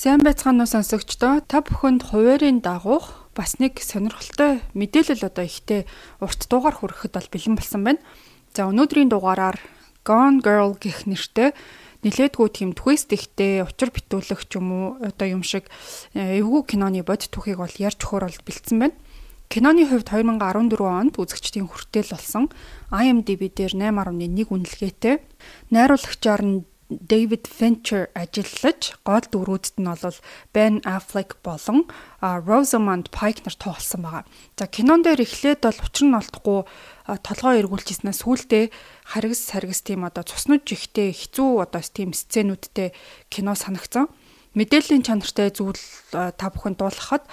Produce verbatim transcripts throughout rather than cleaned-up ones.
Сайн байцгаана уу сонсогчдоо. Та бүхэнд хуваарийн дагуух бас нэг сонирхолтой мэдээлэл одоо ихтэй урт дугаар хүрэхэд бол бэлэн болсон байна. За өнөөдрийн дугаараар Gone Girl гэх нэртэй нилээдгүй тийм twist ихтэй учир битүүлэх ч юм уу одоо юм шиг эвгүй киноны бод түүхийг бол ярьж өгөхөр бол бэлдсэн байна. Киноны хувьд две thousand fourteen онд үзэгчдийн хүртэл болсон I M D B дээр eight point one үнэлгээтэй. Найруулагчаар нь David Fincher ажиллаж, гол дүрүүдэд нь бол Ben Affleck болон Rosamund Pike нар тоглосон байгаа. За кинон дээр эхлээд бол учир нь олдохгүй толгой эргүүлжсэнээс сүүлдээ харгас саргас тийм одоо цуснаж ихтэй хэцүү одоо тийм сценүүдтэй кино санагцсан. Мэдээллийн чанартай зүйл та бүхэн дуулгахад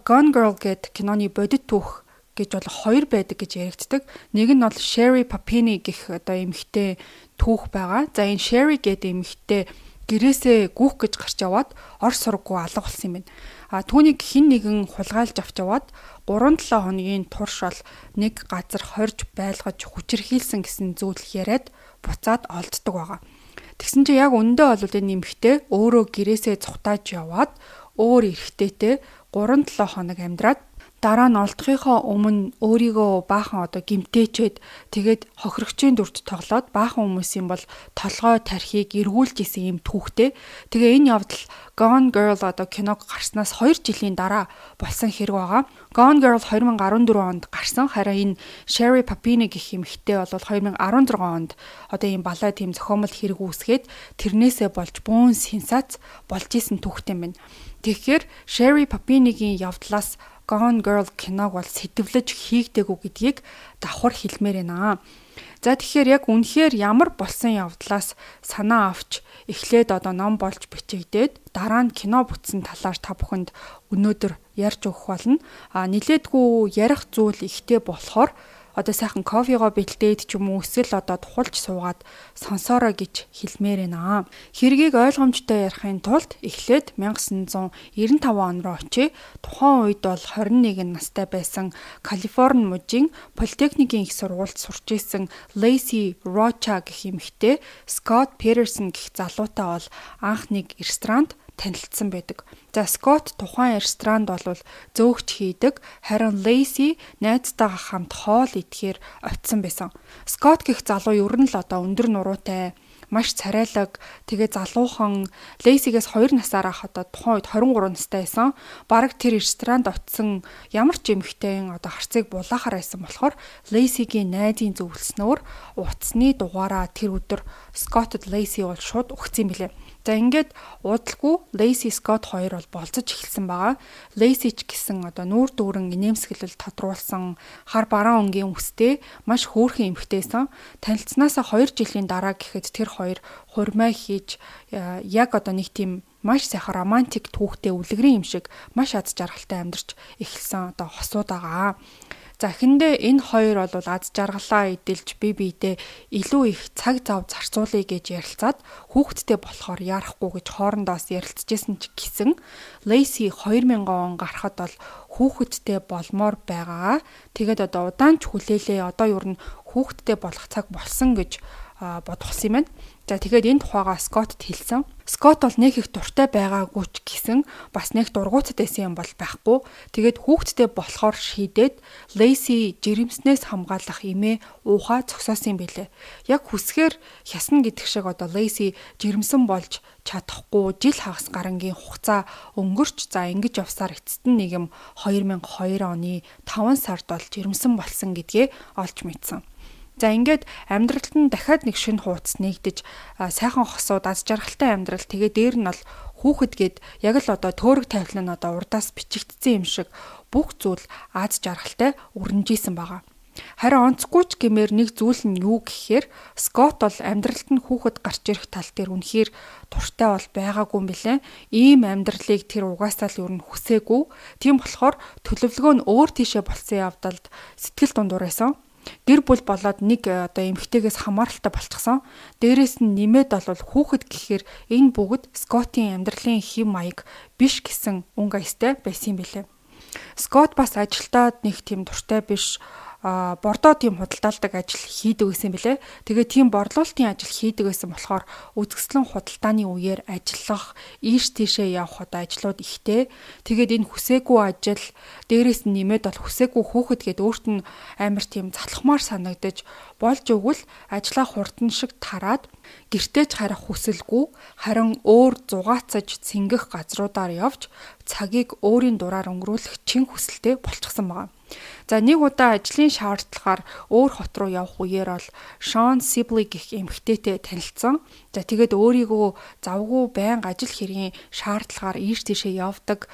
Gone Girl гэд киноны бодит түүх гэж бол хоёр байдаг гэж яригддаг. Нэг нь бол Sherry Papini гэх одоо эмэгтэй түүх байгаа. За энэ Sherry гэдэг эмэгтэй гэрээсээ гүөх гэж гарч яваад ор сургуу алга болсон юм байна. А түүнийг хин нэгэн хулгайлж авч яваад three to seven хоногийн турш бол нэг газар хорж байлгаж хүчирхийлсэн гэсэн зүйл яриад буцаад олддог байгаа. Тэгсэн чинь яг өндөө бол энэ эмэгтэй өөрөө гэрээсээ цухтааж яваад өөр эрэгтэйтэй three to seven хоног амьдраад дараа нь олдохынхоо өмнө өөрийгөө баахан одоо гимтээчээд тэгээд хохирогчийн дүрд тоглоод баахан хүмүүсийн бол толгой тархийг эргүүлж исэн юм түүхтэй. Тэгээ энэ явдал Gone Girl одоо киног гарснаас two жилийн дараа болсон хэрэг байгаа. Gone Girl twenty fourteen онд гарсан. Харин энэ Sherry Papini гэх эмэгтэй бол twenty sixteen онд одоо ийм балай тийм зохиомол хэрэг үүсгээд тэрнээсээ болж буун сенсац болж исэн түүхтэй юм байна. Тэгэхээр Sherry Papini-гийн явдлаас Gone Girl киног бол сэтвлэж хийгдэгүү гэдгийг давхар хэлмээр байна. За тэгэхээр яг үнэхээр ямар болсон явдлаас санаа авч эхлээд одоо ном болж бичигдээд дараа нь кино бүтсэн талаар та бүхэнд өнөөдөр ярьж өгөх болно. А нилээдгүй ярих зүйл ихтэй болохоор одоо сайхан кофегоо бэлдээд ч юм уу эсвэл одоо тухалж суугаад сонсоорой гэж хэлмээр байна. Хэргийг ойлгомжтой ярихын тулд эхлээд nineteen ninety-five он руу очие. Тухайн үед бол twenty-one настай байсан Калифорни мужийн политехникийн их сургуульд сурч исэн Lacey Rocha гэх эмэгтэй Scott Peterson гэх залуутай бол анх нэг ресторанд танилцсан байдаг. За Scott тухайн ресторанд бол зөөгч хийдэг, харин Lacey найзтайгаа хамт хоол идэхээр очисон байсан. Scott гэх залуу ер нь л одоо өндөр нуруутай, маш царайлаг, тэгээ залуухан Lacey-гээс two насаараа одоо тухайн үед twenty-three настай байсан. Бараг тэр ресторанд очисон ямар ч эмэгтэйн одоо харцыг булаахаар байсан болохоор Lacey-гийн найзын зөвлснөөр утасны дугаараа тэр өдөр Scott-д Lacey бол шууд өгсөн билээ. За ингээд удалгүй Lacey Scott хоёр бол болцож эхэлсэн байгаа. Lacey ч гэсэн одоо нүүр дүүрэн инээмсэглэл тодруулсан хар бараан өнгийн үстэй маш хөөрхөн эмэгтэйсэн. Танилцсанаасаа two жилийн дараа гэхэд тэр хоёр хурмай хийж яг одоо нэг тийм маш сайхан романтик түүхтэй үлгэрийн юм шиг маш аз жаргалтай амьдарч эхэлсэн одоо хосууд байгаа. За эхэндээ энэ хоёр бол аз жаргалаа эдэлж бие биедээ илүү их цаг зав зарцуулъя гэж ярилцаад хүүхэдтэй болохоор яарахгүй гэж хоорондоос ярилцажсэн ч гэсэн Lacey two thousand он гарахад бол хүүхэдтэй болмоор байгаа. Тэгээд одоо удаан ч хүлээлээ одоо ер нь хүүхэдтэй болох цаг болсон гэж бодохсон юм байна. За тэгээд энэ тухайгаа Scott хэлсэн. Scott бол нэг их дуртай байгаагүй ч гэсэн бас нэг дургуутад байсан юм бол байхгүй. Тэгээд хүүхэдтэй болохоор шийдээд Lacey жирэмснээс хамгаалах эмээ уухаа зогсоосон юм билээ. Яг хүсгээр хясна гэдэг шиг одоо Lacey жирэмсэн болж чадахгүй жил хагас гарангийн хугацаа өнгөрч за ингэж явсаар эцэст нь нэг юм two thousand two оны five сард бол жирэмсэн болсон гэдгээ олж мэдсэн. За ингээд амьдралд нь дахиад нэг шинэ хуудас нэгдэж сайхан хосууд аз жаргалтай амьдрал тэгээ дээр нь бол хүүхэд гээд яг л одоо төөрөг тавилан нь одоо урдаас бичигдсэн юм шиг бүх зүйл аз жаргалтай өрнөжсэн байгаа. Харин онцгүй ч гэмээр нэг зүйл нь юу гэхээр Scott бол амьдралд нь хүүхэд гарч ирэх тал дээр үнэхээр туртай бол байгаагүй юм билээ. Ийм амьдралыг тэр угаасаа л ер нь хүсээгүй. Тийм болохоор төлөвлөгөө нь өөр тийшээ болсон явдалд сэтгэл дундуур байсан. Гэр бүл болоод нэг одоо эмэгтэйгээс хамааралтай болчихсон. Дээрээс нь нэмээд бол хүүхэд гэхээр энэ бүгд Scott-ийн амьдралын хэм маяг биш гэсэн өнгө аястай байсан юм билээ. Scott бас ажилтаад нэг тийм дуртай биш. бордоо тийм худалдаалдаг ажил хийдэг гэсэн бэлээ. Тэгээ тийм борлуулалтын ажил хийдэг гэсэн болохоор үзэсгэлэн худалдааны үеэр ажиллах, ийш тийшээ явах одоо ажлууд ихтэй. Тэгээд энэ хүсээгүй ажил, дээрээс нь нэмээд бол хүсээгүй хөөхд гээд өөрт нь амар тийм залхмаар санагдаж болж өгвөл ажлаа хурдан шиг тараад гэртеж харах хүсэлгүй харин өөр зугаацаж цэнгэх газруудаар явж цагийг өөрийн дураар өнгөрүүлэх чин хүсэлтэй болчихсон байна. За нэг удаа ажлын шаардлагаар өөр хот руу явах үеэр бол Шон Сибли гэх эмэгтэйтэй танилцсан. За тэгээд өөрийгөө завгүй байнга ажил хэргийн шаардлагаар ийш тийшээ явдаг.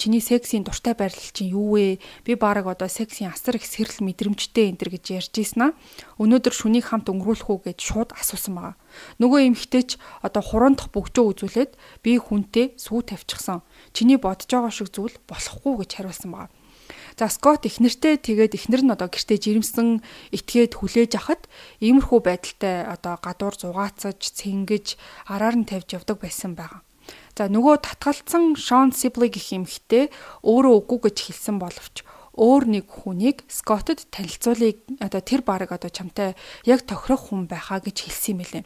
Чиний сексийн дуртай байрлал чинь юу вэ? Би баг одоо сексийн асар их сэрэл мэдрэмжтэй энэ төр гэж ярьж ийсэн аа. Өнөөдөр шүнийг хамт өнгөрүүлэх үү гэж шууд асуусан байгаа. Нөгөө эмэгтэй ч одоо хуран дахь бөгжөө үзүүлээд би хүнтэй сүү тавьчихсан. Чиний бодож байгаа шиг зүйл болохгүй гэж хариулсан байгаа. За Скот эхнэртэй тэгээд эхнэр нь одоо гэртээ жирэмсэн итгээд хүлээж авахад иймэрхүү байдалтай одоо гадуур зугаацаж, цэнгэж, араар нь тавьж явдаг байсан байгаа. За нөгөө татгалцсан Шон Сибли гэх эмэгтэй өөрөө үгүй гэж хэлсэн боловч өөр нэг хүнийг Скоттод танилцуулъя одоо тэр баг одоо чамтай яг тохирох хүн байхаа гэж хэлсэн юм байлээ.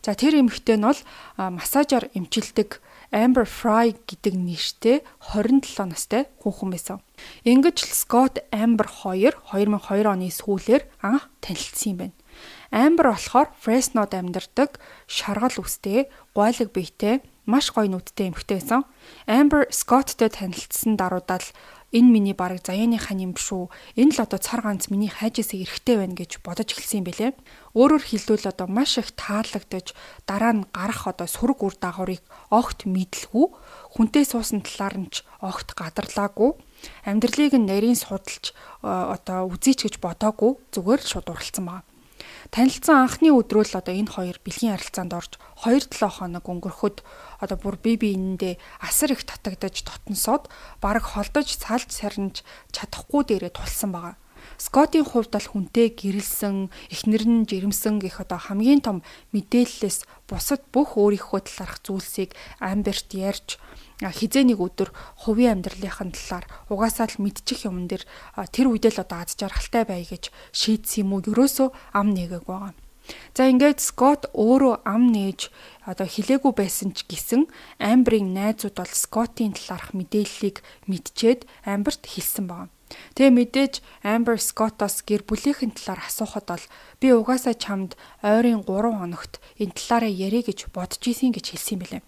За тэр эмэгтэй нь бол массажаар эмчилдэг Amber Fry гэдэг нэртэй хорин долоо настай хүүхэн байсан. Ингэж л Scott Amber хоёр две тысячи две оны сүүлээр анх танилцсан юм байна. Amber болохоор Fresno-д амьдардаг, шаргал үстэй, гуайлаг биетэй, маш гоё нүдтэй эмэгтэй байсан. Amber Scott-тэй танилцсан даруйдаа л энэ миний бараг заяаныхаа юм шүү. Энэ л одоо цар ганц миний хайжээсээ эрэхтэй байна гэж бодож эхэлсэн юм бэлээ. Өөрөөр хэлбэл одоо маш их таалагдж дараа нь гарах одоо сүрэг үр дагаврыг огт мэдлгүй, хүнтэй суусан талаар нь ч огт гадарлаагүй, амьдралыг нь нарийн судалж одоо үзээч гэж бодоогүй, зүгээр л шууд уралцсан байна. Танилцсан анхны өдрөө л одоо энэ хоёр бэлгийн харилцаанд орж two to seven хоног өнгөрөхөд одоо бүр бие биендээ асар их татагдаж дотносоод бараг холдож салж сарнж чадахгүй дээрээ тулсан байгаа. Скотийн хувьд бол хүнтэй гэрэлсэн, эхнэр нь жирэмсэн гэх одоо хамгийн том мэдээллээс бусад бүх өөрийнхөө талаарх зүйлсийг Амберт ярьж хизээ нэг өдөр хувийн амьдралынхаа талаар угаасаа л мэдчих юм дээр тэр үедээ л одоо аз жаргалтай бай гэж шийдсэн юм уу ерөөсөө ам нэгээг байгаа. За ингээд Скот өөрөө ам нээж одоо хилээгүй байсан ч гэсэн Амберийн найзууд бол Скотийн талаарх мэдээллийг мэдчихэд Амберт хэлсэн байна. Тэгээ мэдээж Amber Scott-оос гэр бүлийнхэн талаар асуухад бол би угаасаа чамд ойрын three хоногт энэ талаараа ярих гэж бодож ийсэн гэж хэлсэн юм билээ.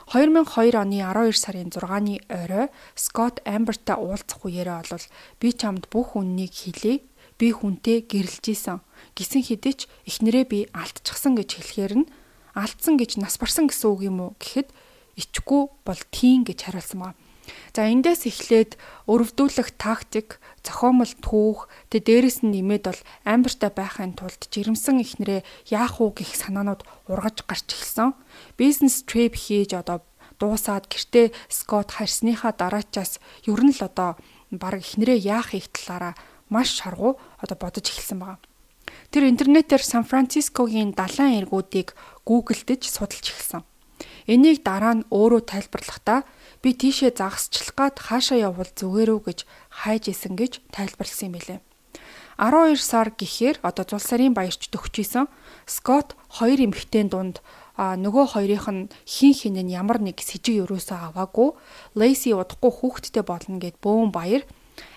two thousand two оны twelve сарын six-ны орой Scott Amber-тай уулзах үеэрээ бол би чамд бүх үннийг хэлье. Би хүнтэй гэрэлж ийсэн. Гисэн хэдий ч эхнэрээ би алдчихсан гэж хэлэхээр нь алдсан гэж нас барсан гэсэн үг юм уу гэхэд ичгүй бол тийм гэж хариулсан байна. За эндээс эхлээд өрөвдүүлэх тактик, зохиомл түүх, тэ дээрэс нь нэмээд бол Амбертай байхын тулд жирэмсэн эхнэрээ яах уу гэх санаанууд ургаж гарч эхэлсэн. Бизнес трip хийж одоо дуусаад гэртээ Скот харсныхаа дараачаас ер нь л одоо баг эхнэрээ яах их талаараа маш шаргуу одоо бодож эхэлсэн байна. Тэр интернетээр Сан Францискогийн далайн эргүүдийг гуглдэж судалж эхэлсэн. Энийг дараа нь өөрөө тайлбарлахдаа би тийшээ загасчлах гад хаашаа явбал зүгээр үү гэж хайж исэн гэж тайлбарласан юм билээ. twelve сар гэхээр одоо зул сарын баярч төгчийсэн Скот хоёр эмэгтэйн дунд нөгөө хоёрынх нь хин хин нь ямар нэг сэжиг өрөөсөө аваагүй, Лейси удахгүй хүүхэдтэй болно гэд бөөн баяр,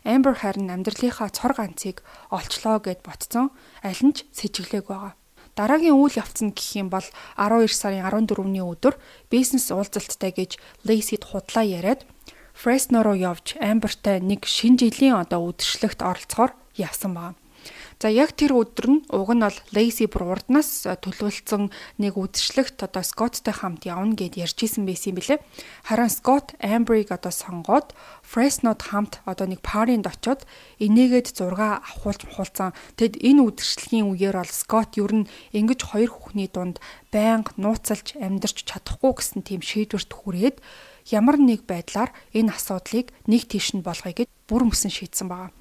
Амбер харин амьдралынхаа цор ганцыг олчлоо гэд ботцсон, аль нь ч сэжиглээг байгаа. Дараагийн үйл явц нь гэх юм бол twelve сарын fourteen-ний өдөр бизнес уулзалттай гэж Лейсид худлаа яриад Фресно руу явж Амбертай нэг шинэ жилийн одоо үдшилтэд оролцохоор явсан байна. За яг тэр өдөр нь уг нь бол Лейси бүр урднаас төлөвлөсөн нэг үдшилтэд одоо Скоттой хамт явна гэд ярьж исэн байсан юм билээ. Харин Скот Амберийг одоо сонгоод Фреснод хамт одоо нэг паринд очоод энийгээд зураг авахулж мухалцсан. Тэгэд энэ үдшилтийн үеэр бол Скот ер нь ингэж хоёр хүүхний дунд байнга нууцалж амьдарч чадахгүй гэсэн тийм шийдвэрт хүрээд ямар нэг байдлаар энэ асуудлыг нэг тийш нь болгоё гэж бүр мөсөн шийдсэн байна.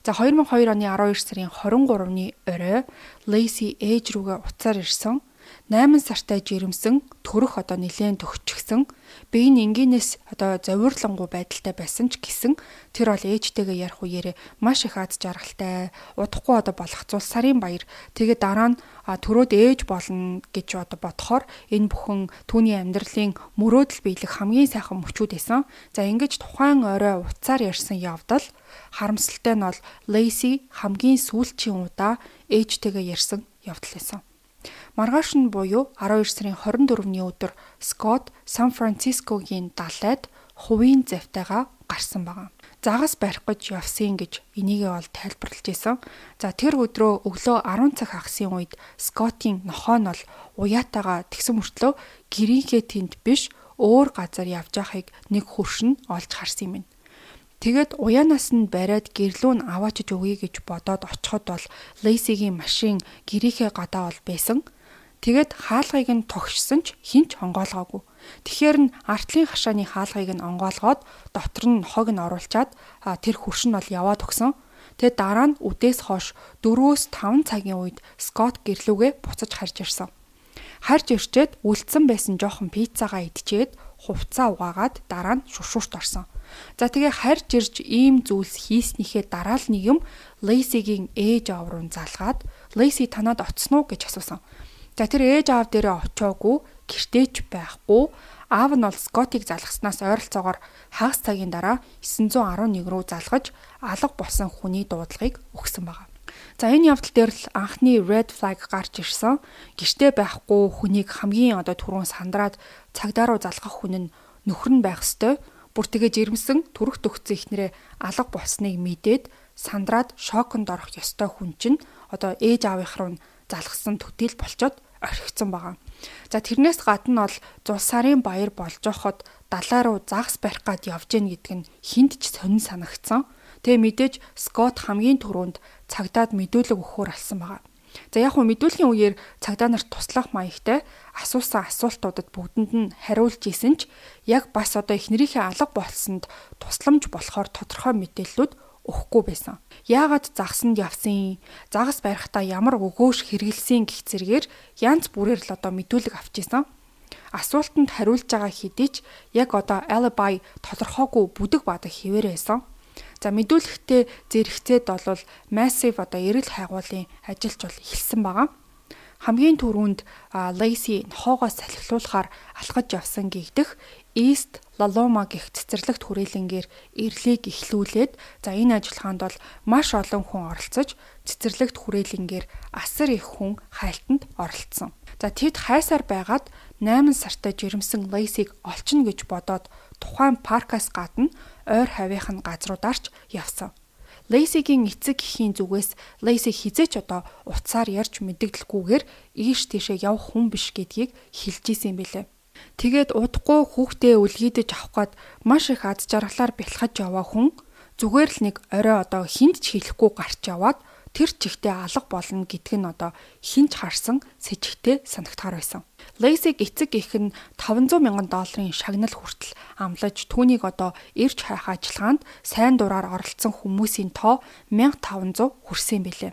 За two thousand two оны twelve сарын twenty-three-ны орой Лейси ээж рүүгээ уцаар ирсэн. найман сартай жирэмсэн, төрөх одоо нэлээд төгчгсөн, би энэ энгийнээс одоо зовирлонгуй байдалтай байсан ч гэсэн тэр бол ээжтэйгээ ярих үеэрээ маш их аз жаргалтай, удахгүй одоо болгоцвол сарын баяр. Тэгээд дараа нь төрөөд ээж болно гэж одоо бодохоор энэ бүхэн түүний амьдралын мөрөөдөл биелэх хамгийн сайхан мөчүүд байсан. За ингэж тухайн орой уцаар ярьсан явдал харамсалтай нь бол Лейси хамгийн сүүлчийн удаа ээжтэйгээ ярьсан явдал байсан. Маргааш нь буюу арван хоёр сарын хорин дөрөвний өдөр Скот Сан Францискогийн далайд хувийн завтайгаа гарсан байгаа. Загас барих гэж явсан гэж энийгээ бол тайлбарлаж байсан. За тэр өдрөө өглөө арван цаг хагасын үед Скотийн нохоо нь бол уяатайгаа тэгсэн мөртлөө гэрийнхээ тэнд биш өөр газар явж байхыг нэг хөршин олж харсан юм байна. Тэгээд уяанаас нь бариад гэрлүү нь аваачиж өгье гэж бодоод очиход бол Лейсигийн машин гэрийнхээ гадаа бол байсан. Тэгээд хаалгыг нь тогшсон ч хинч онгоолгоогүй. Тэгэхээр нь артлын хашааны хаалгыг нь онгоолгоод дотор нь хог нь оруулчаад тэр хөршин бол яваад өгсөн. Тэгээд дараа нь үдээс хойш дөрвөөс таван цагийн үед Скот гэрлүүгээ буцаж харж ирсэн. Харж ирчээд үлдсэн байсан жоохон пиццагаа идчихэд хувцаа угаагаад дараа нь шушуурт орсон. За тэгээ харж ирж ийм зүйлс хийснийхээ дараа л нэг юм Лейсигийн ээж аав руу залгаад Лейси танаад оцсон уу гэж асуусан. За тэр ээж аав дээрээ очоогүй, гэртээч байхгүй. Аав нь бол Скотыг залгаснаас ойролцоогоор хагас цагийн дараа девять один нэг рүү залгаж алга болсон хүний дуудлагыг өгсөн байна. За энэ явдал дээр л анхны red flag гарч ирсэн. Гэртээ байхгүй хүнийг хамгийн одоо түрүүн сандраад цагдаа руу залгах хүн нь нөхөр нь байх ёстой. Бүр тэгээ жирэмсэн төрөх төгцсөн ихнэрээ алга болсныг мэдээд сандраад шоконд орох ёстой хүн чинь одоо ээж аавынх руу залгсан төдийл болчоод орхигдсон байгаа. За тэрнээс гадна бол зул сарын баяр болж байхад далай руу загас барих гад явж гин гэдг нь хинт ч сонин санагдсан. Тэгээ мэдээж Скот хамгийн түрүүнд цагдаад мэдүүлэг өгөхөөр алсан байгаа. За яг хөө мэдүүлгийн үеэр цагдаа нарт туслах маягтай асуусан асуултуудад бүгдэнд нь хариулж исэн ч яг бас одоо эхнэрийнхээ алга болсонд тусламж болохоор тодорхой мэдээллүүд өгөхгүй байсан. Яагаад загсанд явсан, загас барихтаа ямар өгөөш хэрэгэлсэн гэх зэргээр янз бүрээр л одоо мэдүүлэг авч исэн. Асуултанд хариулж байгаа хэдий ч яг одоо alibi тодорхойгүй бүдэг бадаг хിവэр байсан. За мэдүүлэгтээ зэрэгцээд бол massive одоо эрэл хайгуулын ажилч бол эхэлсэн байгаа. Хамгийн түрүүнд Лейси нохоогоо салхилуулахаар алхаж явсан гэгдэх East Laloma гэх цэцэрлэгт хүрээлэнгээр ирлийг эхлүүлээд за энэ ажиллагаанд бол маш олон хүн оролцож цэцэрлэгт хүрээлэнгээр асар их хүн хайлтанд оролцсон. За тэд хайсаар байгаад найман сартай жирэмсэн Лейсиг олчихно гэж бодоод тухайн паркаас гадна ойр хавийнх нь газруударч явсан. Лейсигийн эцэг эхийн зүгээс Лейси хизээч одоо уцаар ярьж мэддэгдэлгүйгээр ийш тийшээ явах хүн биш гэдгийг хэлж ийсэн билээ. Тэгээд удахгүй хүүхдээ үлгийдэж авах гээд маш их аз жаргалаар бэлхаж яваа хүн зүгээр л нэг орой одоо хинт ч хэлэхгүй гарч яваад тэр чихтэй алга болно гэдг нь одоо хинч харсан сэжигтэй санагдахаар байсан. Лейсиг эцэг их нь таван зуун мянган долларын шагнал хүртэл амлаж түүнийг одоо ирж хайх ажиллагаанд сайн дураар оролцсон хүмүүсийн тоо мянга таван зуун хүрсэн билээ.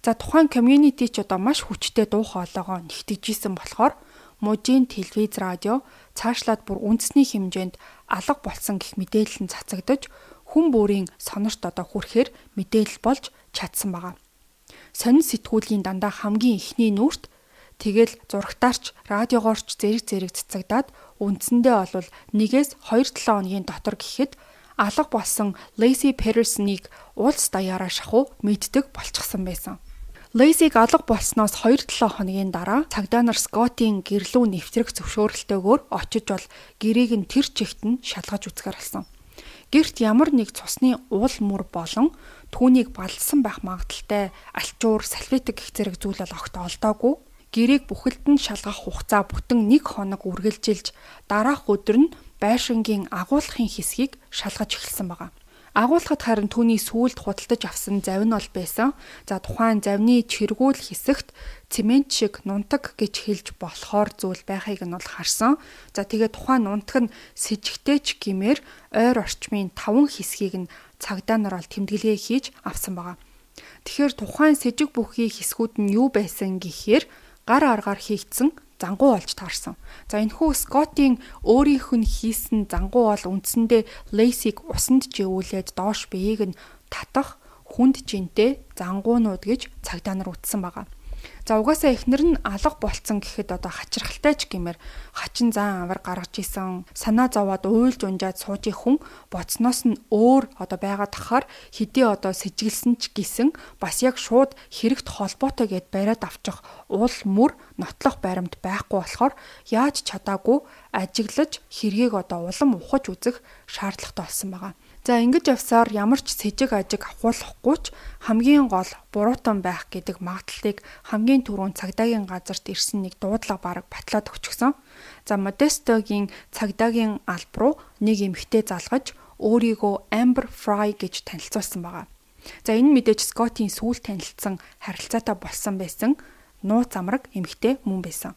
За тухайн community ч одоо маш хүчтэй дуу хоолойгоо нэгтгэжсэн болохоор мужийн телевиз радио цаашлаад бүр үндэсний хэмжээнд алга болсон гэх мэдээлэл нь цацагдаж хүн бүрийн сонорт одоо хүрэхээр мэдээлэл болж чадсан байгаа. Сонин сэтгүүлийн дандаа хамгийн ихний нүрт тэгэл зурагтаарч радиогоорч зэрэг зэрэг цацагдаад үндсэндээ бол нэгээс хоёр долоо хоногийн дотор гэхэд алга болсон Лейси Петерсоныг улс даяараа шахуу мэддэг болчихсон байсан. Лейсиг алга болсноос хоёр долоо хоногийн дараа цагдаа нар Скотийн гэрлүү нэвтрэх зөвшөөрөлтөөр очиж бол гэрийг нь тэр чигт нь шалгаж үзгээр алсан. Гэрт ямар нэг цусны уул мөр болон түүнийг балсан байх магадaltaй альчуур, салфетик гэх зэрэг зүйл бол огт олдоогүй. Гэрийг бүхэлд нь шалгах хугацаа бүтэн нэг хоног үргэлжилж дараах өдөр нь байшингийн агуулгын хэсгийг шалгаж эхэлсэн байгаа. Агуулгад харин түүний сүүлд худалдаж авсан завь нь бол байсан. За тухайн завьны чиргүүл хэсэгт цемент шиг нунтаг гэж хэлж болохоор зүйл байхыг нь бол харсан. За тэгээ тухайн нунтаг нь сэжигтэй ч гэмээр ойр орчмын таван хэсгийг нь цагдаа нар бол тэмдэглээ хийж авсан байгаа. Тэгэхээр тухайн сэжиг бүхий хэсгүүд нь юу байсан гэхээр гар аргаар хийгдсэн зангуу болж таарсан. За энэхүү Скоттийн өөрийнх нь хийсэн зангуу бол үндсэндээ Лейсиг усанд живүүлээд доош биеийг нь татах хүнд жинтэй зангуунууд гэж цагдаа нар үтсэн байгаа. За угаасаа эхнэр нь алга болцсон гэхэд одоо хачирхалтай ч гэмээр хачин зан авар гаргаж исэн санаа зовоод уйлж унжаад сууж хүн боцноос нь өөр одоо байгаад тахаар хэдий одоо сэжиглсэн ч гисэн бас яг шууд хэрэгт холбоотой гэд бариад авчих уул мөр нотлох баримт байхгүй болохоор яаж чадаагүй ажиглаж хэргийг одоо улам ухаж үзэх шаардлагатай болсон байгаа. За ингэж явсаар ямар ч сэжиг ажиг авахуулахгүй ч хамгийн гол буруутан байх гэдэг магадaltaыг хамгийн түрүүнд цагдаагийн газарт ирсэн нэг дуудлага бараг батлаад өгчихсөн. За Модестогийн цагдаагийн алба руу нэг эмэгтэй залгаж өөрийгөө Amber Fry гэж танилцуулсан байгаа. За энэ мэдээж Скоттийн сүүл танилцсан харилцаатай болсон байсан нууц амраг эмэгтэй мөн байсан.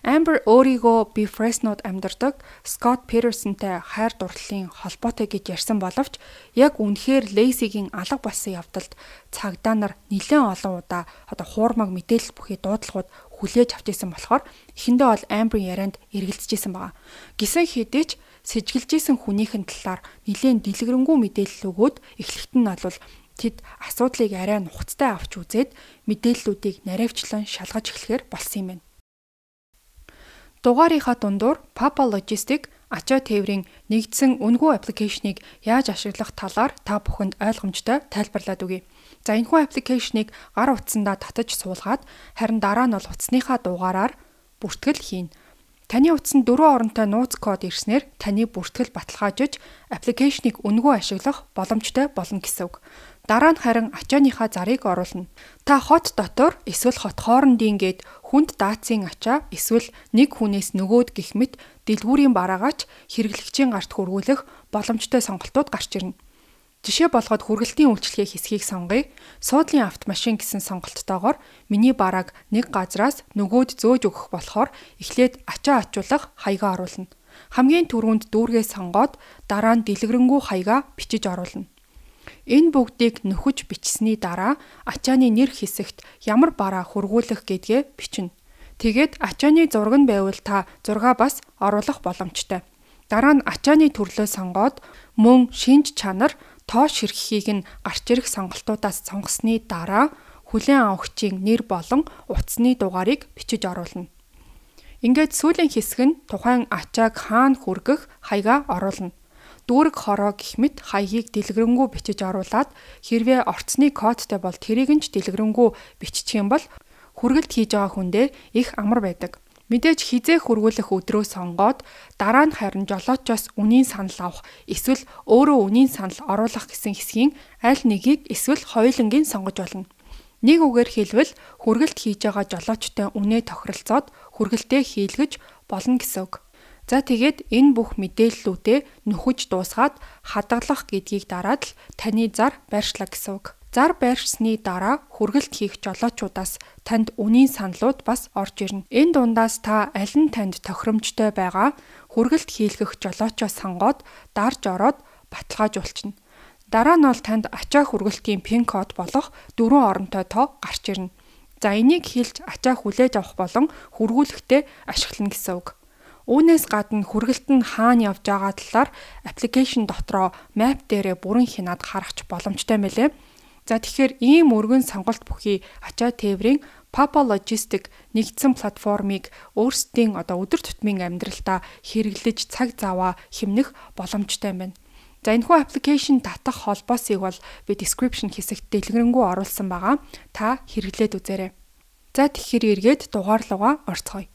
Amber өөрийгөө би Fresno-д амьдардаг Scott Petersonтэй хайр дурлалын холбоотой гэж ярьсан боловч яг үнэхээр Lacey-гийн алга болсон явдалд цагдаа нар нэлээд олон удаа одоо хуурмаг мэдээлэл бүхий дуудлагууд хүлээж авч исэн болохоор эхэндээ бол Amber-ийн ярианд эргэлзэж исэн байгаа. Гисэн хэдий ч сэжгэлжсэн хүнийхэн талаар нэлээд дэлгэрэнгүй мэдээлэл өгөөд эхлэхэд нь бол тэд асуудлыг арай нухацтай авч үзээд мэдээллүүдийг наривчлан шалгаж эхлэхээр болсон юм байна. Дугаарынхаа дундуур Papa Logistic ачаа тээврийн нэгдсэн үнэгүй аппликейшнийг яаж ашиглах талаар та бүхэнд ойлгомжтой тайлбарлаад өгье. За энэхүү аппликейшнийг гар утсандаа татаж суулгаад харин дараа нь бол утасныхаа дугаараар бүртгэл хийнэ. Таны утсанд дөрвөн оронтой нууц код ирснээр таны бүртгэл баталгаажиж аппликейшнийг үнэгүй ашиглах боломжтой болно гэсэн үг. Дараа нь харин ачааныхаа зарыг оруулна. Та хот дотор эсвэл хот хоорондын гээд хүнд даацын ачаа эсвэл нэг хүнээс нөгөөд гэх мэт дэлгүүрийн бараагаач хэрэглэгчийн гарт хүргүүлэх боломжтой сонголтууд гарч ирнэ. Жишээ болгоод хүргэлтийн үйлчлэгээ хэсгийг сонгоё. Суудлын автомашин гэсэн сонголттойгоор миний барааг нэг газраас нөгөөд зөөж өгөх болохоор эхлээд ачаа ачуулах хаягаа оруулна. Хамгийн түрүүнд дүүргээ сонгоод дараа нь дэлгэрэнгүй хаягаа бичиж оруулна. Энэ бүгдийг нөхөж бичсэний дараа ачааны нэр хэсэгт ямар бараа хүргүүлэх гэдгээ бичнэ. Тэгээд ачааны зураг нь байвал та зургаа бас оруулах боломжтой. Дараа нь ачааны төрлөө сонгоод мөн шинж чанар тоош ширхгийг нь гарч ирэх сонголтуудаас сонгосны дараа хүлээн авахчийн нэр болон утасны дугаарыг бичиж оруулна. Ингээд сүүлийн хэсэг нь тухайн ачааг хаана хүргэх хаягаа оруулна. Дүүрэг хороо гэх мэт хаягийг дэлгэрэнгүй бичиж оруулаад хэрвээ орцны кодтой бол тэрийг нь ч дэлгэрэнгүй биччих юм бол хүргэлт хийж байгаа хүндээ их амар байдаг. Мэдээж хизээ хүргүүлэх өдрөө сонгоод дараа нь харин жолоочоос үнийн санал авах эсвэл өөрөө үнийн санал оруулах гэсэн хэсгийн аль нэгийг эсвэл хоёулангийн сонгож болно. Нэг үгээр хэлбэл хүргэлт хийж байгаа жолоочтой үнээ тохиролцоод хүргэлтээ хийлгэж болно гэсэн үг. За тэгээд энэ бүх мэдээллүүдээ нөхөж дуусгаад хадгалах гэдгийг дараад л таны зар байршлаа гэсэн үг. Зар байршсны дараа хүргэлт хийх жолоочудаас танд үнийн саналуд бас орж ирнэ. Энэ дундаас та аль нь танд тохиромжтой байгаа хүргэлт хийлгэх жолоочоо сонгоод дарж ороод баталгаажуулчихна. Дараа нь бол танд ачаа хүргэлтийн пин код болох дөрвөн оронтой тоо гарч ирнэ. За энийг хэлж ачаа хүлээж авах болон хүргүүлэхдээ ашиглана гэсэн үг. Үүнээс гадна хүргэлт нь хаана явж байгаа талаар аппликейшн дотроо map дээрээ бүрэн хянаад харах боломжтой мэлээ. За тэгэхээр ийм өргөн сонголт бүхий ачаа тээврийн Papa Logistic нэгдсэн платформыг өөрсдийн одоо өдөр тутмын амьдралдаа хэрэглэж цаг заваа хэмнэх боломжтой байна. За энэхүү аппликейшн татах холбоосыг бол би description хэсэгт дэлгэрэнгүй оруулсан байгаа. Та хэрэглээд үзээрэй. За тэгэхээр эргээд дугаар руугаа орцгоё.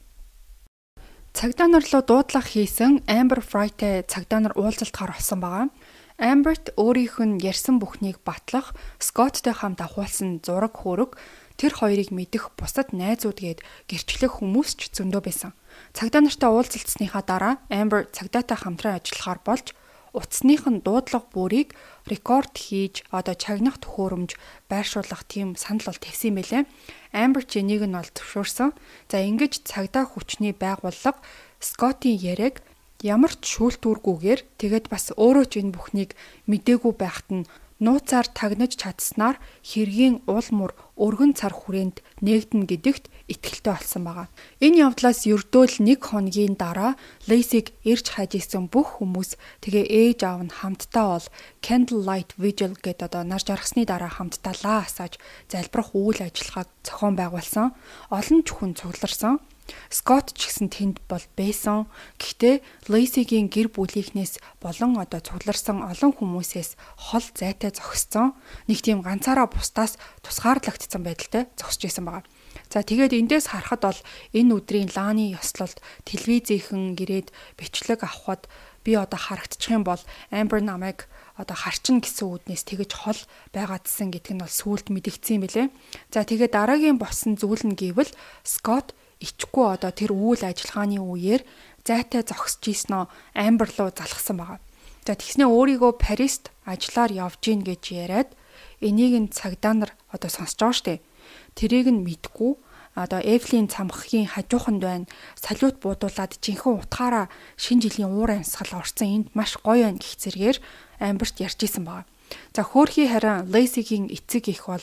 Цагдаа нар руу дуудлага хийсэн Amber Fry-тэй цагдаа нар уулзалт гаргасан байгаа. Amber-т өөрийнх нь ярьсан бүхнийг батлах, Scott-тэй хамт авахулсан зураг хөрөг тэр хоёрыг мэдэх бусад найзууд гээд гэрчлэх хүмүүс ч зөндөө байсан. Цагдаа нартай уулзалцсныхаа дараа Amber цагдаатай хамтран ажиллахаар болж утасных нь дуудлага бүрийг рекорд хийж одоо чагнах төхөөрөмж байршуулах тийм санал бол тавьсан юм байлээ. Amber ч энийг нь бол зөвшөөрсөн. За ингэж цагдаа хүчний байгууллага Scott-ийн яриаг ямар ч шүүлтүүргүйгээр тэгээд бас өөрөө ч энэ бүхнийг мдээгүй байхад нь нууцаар тагнаж чадсанаар хэргийн уул мөр өргөн цар хүрээнд нээгдэнэ гэдэгт итгэлтэй болсон байгаа. Энэ явдлаас ердөө л нэг хоногийн дараа Лейсиг ирж хайж исэн бүх хүмүүс тэгээ ээж аав нь хамтдаа бол Candlelight Vigil гэдэг одоо нар жаргасны дараа хамтдаа лаа асааж залбирах үйл ажиллагааг зохион байгуулсан. Олон ч хүн цугларсан. Скот ч гэсэн тэнд бол байсан. Гэхдээ Лейсигийн гэр бүлийнхнээс болон одоо цугларсан олон хүмүүсээс хол зайтай зогссон. Нэг тийм ганцаараа бусдаас тусгаарлагдсан байдалтай зогсож байсан байгаа. За тэгээд эндээс харахад бол энэ өдрийн Лааны ёслолд телевизийнхэн гэрээд бичлэг авахад би одоо харагдчих юм бол Amber намайг одоо харчин гэсэн үднээс тэгэж хол байгаадсан гэдэг нь бол сүулт мэдэгдсэн юм билэ. За тэгээд дараагийн болсон зүйл нь гэвэл Скот ичгүй одоо тэр үйл ажиллагааны үеэр зайтай зогсож ийснөө Amber руу залхсан байгаа. За тэгснээ өөрийгөө Парист ажиллаар явж гин гэж яриад энийг нь цагдаа нар одоо сонсож байгаа штэ. Тэрийг нь мэдгүй одоо Эвлийн цамхгийн хажууханд байна. Салют буудуулаад жинхэнэ утгаараа шинэ жилийн уур амьсгал орсон энд маш гоё байна гэх зэргээр Амберт ярьж исэн байгаа. За хөөрхий харин Лейсигийн эцэг их бол